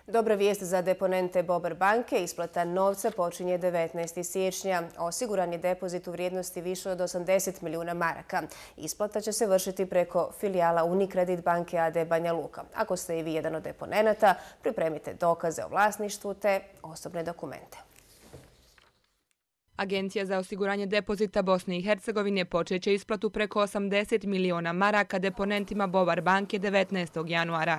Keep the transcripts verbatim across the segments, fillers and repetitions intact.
Dobra vijest za deponente Bobar banke, isplata novca počinje devetnaestog siječnja. Osiguran je depozit u vrijednosti više od osamdeset milijuna maraka. Isplata će se vršiti preko filijala Unicredit banke a d Banja Luka. Ako ste i vi jedan od deponenata, pripremite dokaze o vlasništvu te osobne dokumente. Agencija za osiguranje depozita Bosne i Hercegovine počeće isplatu preko osamdeset milijuna maraka deponentima Bobar banke devetnaestog januara.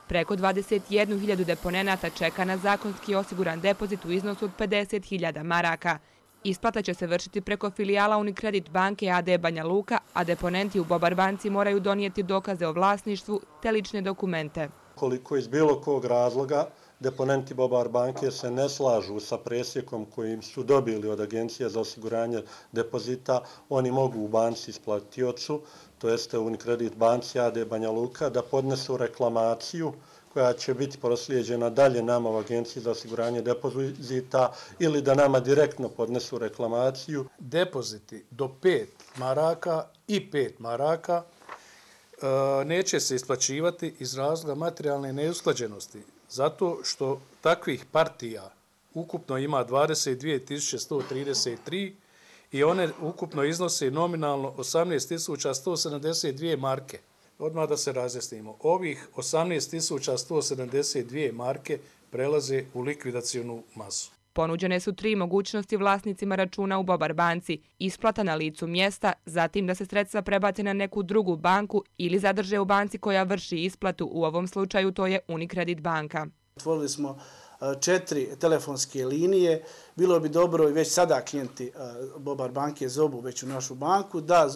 Preko dvadeset jednu hiljadu deponenata čeka na zakonski osiguran depozit u iznosu od pedeset hiljada maraka. Isplata će se vršiti preko filijala Unicredit banke a d Banja Luka, a deponenti u Bobar banci moraju donijeti dokaze o vlasništvu te lične dokumente. Koliko iz bilo kog razloga deponenti Bobar banke se ne slažu sa presjekom kojim su dobili od Agencije za osiguranje depozita, oni mogu u banci isplatiocu, to jeste Unicredit banci a d Banja Luka, da podnesu reklamaciju koja će biti proslijeđena dalje nama u Agenciji za osiguranje depozita ili da nama direktno podnesu reklamaciju. Depoziti do pet maraka i pet maraka neće se isplaćivati iz razloga materijalne neusklađenosti, zato što takvih partija ukupno ima dvadeset dvije tisuće sto trideset tri i one ukupno iznose nominalno osamnaest tisuća sto sedamdeset dvije marke. Odmah da se razjasnimo, ovih osamnaest tisuća sto sedamdeset dvije marke prelaze u likvidacionu masu. Ponuđene su tri mogućnosti vlasnicima računa u Bobar banci: isplata na licu mjesta, zatim da se sredstva prebace na neku drugu banku ili zadrže u banci koja vrši isplatu, u ovom slučaju to je Unicredit banka. Otvorili smo četiri telefonske linije. Bilo bi dobro i već sada klijenti Bobar banke zovu već u našu banku da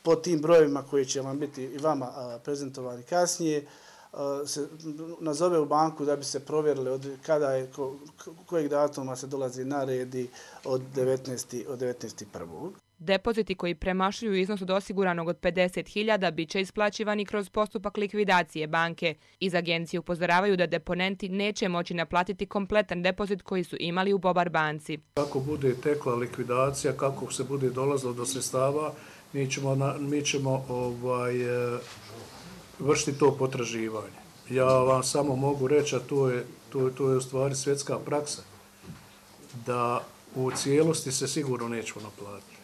po tim brojevima koji će vam biti i vama prezentovani kasnije se nazove u banku da bi se provjerili od kada je, ko, kojeg datuma se dolazi na redi od devetnaestog prvog Depoziti koji premašuju iznos od osiguranog od pedeset hiljada bit će isplaćivani kroz postupak likvidacije banke. Iz agencije upozoravaju da deponenti neće moći naplatiti kompletan depozit koji su imali u Bobar banci. Kako bude tekla likvidacija, kako se bude dolazilo do sredstava, mi ćemo, na, mi ćemo ovaj, vršiti to potraživanje. Ja vam samo mogu reći, a to je, to, to je u stvari svjetska praksa, da u cijelosti se sigurno nećemo naplatiti.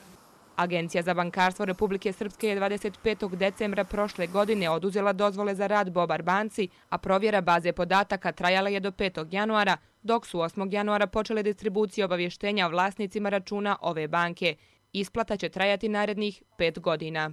Agencija za bankarstvo Republike Srpske je dvadeset petog decembra prošle godine oduzela dozvole za rad Bobar banci, a provjera baze podataka trajala je do petog januara, dok su osmog januara počele distribucije obavještenja vlasnicima računa ove banke. Isplata će trajati narednih pet godina.